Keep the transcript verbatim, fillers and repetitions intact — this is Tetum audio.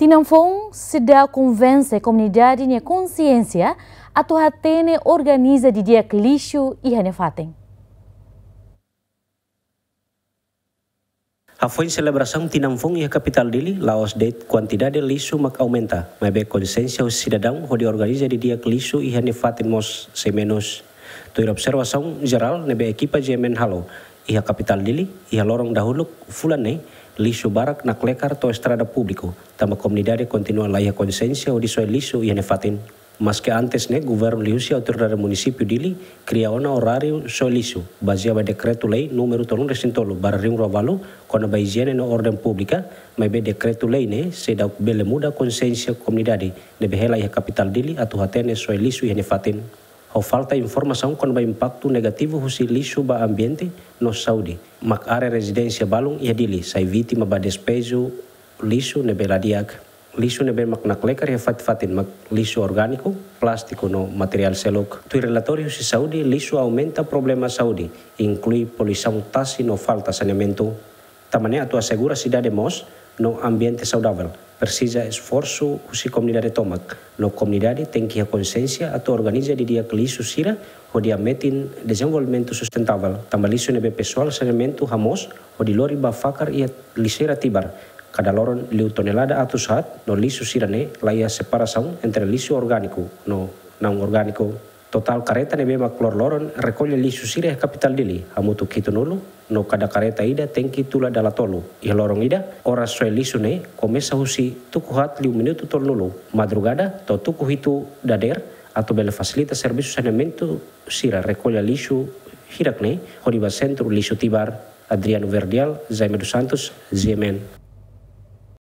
Tinan foun seidauk konvense komunidade nia konsiénsia atu hatene organiza didi'ak lixu iha nia fatin. Hafoin selebrasaun tinan foun iha kapitál Dili, la'ós de'it kuantidade lixu mak aumenta, maibé konsiénsia husi sidadaun hodi organiza didi'ak lixu iha nia fatin mós sei menus. Tuir observasaun jerál ne'ebé ekipa G M N halo iha kapitál Dili, iha loron dahuluk fulan ne'e, lixu barak naklekar to'o estrada públiku, tanba komunidade kontinua la iha konsiénsia hodi soe lixu iha nia fatin. Maske antes ne'e, governu liuhusi autoridade munisípiu Dili kria ona oráriu soe lixu, bazeia ba dekretu-lei númeru tolunulu-resin-tolu barra rihun rua ualu, kona-ba ijiene no orden públika, maibé dekretu-lei ne'e seidauk bele muda konsiénsia komunidade ne'ebé hela iha kapitál Dili atu hatene soe lixu iha nia fatin. Ho falta informasaun kona-ba impaktu negativu husi lixu ba ambiente no saúde, mak área rezidénsia balun iha Dili sai vítima ba despeju lixu ne'ebé la di'ak. Lixu ne'ebé mak naklekar iha fatin-fatin mak lixu orgániku, plástiku no materiál seluk. Tuir relatóriu husi saúde, lixu aumenta problema saúde, inklui poluisaun tasi no falta saneamentu. Tanba ne'e, atu asegura sidade moos no ambiente saudavel, presiza esforsu husi komunidade tomak, no komunidade tenke iha konsiénsia atu organiza didi'ak lixu sira hodi hametin dezenvolvimentu sustentável. Tanba lixu ne'ebé pesoál saneamentu hamoos hodi lori ba fakar iha lixeira Tibar, kada loron liu tonelada atus haat, no lixu sira-ne'e la iha separasaun entre lixu orgániku no naun orgániku. Totál karreta ne'ebé mak loroloron rekolla lixu sira iha kapitál Dili hamutuk hitunulu, no kada karreta ida tenke tula dala tolu. Iha loron ida, oras soe lixu ne'e komesa husi tuku haat liu minutu tolunulu madrugada to'o tuku hitu dadeer, atu bele fasilita servisu saneamentu sira rekolla lixu hirak-ne'e hodi ba sentru lixu Tibar. Adriano Verdial, Jaime dos Santos, G M N.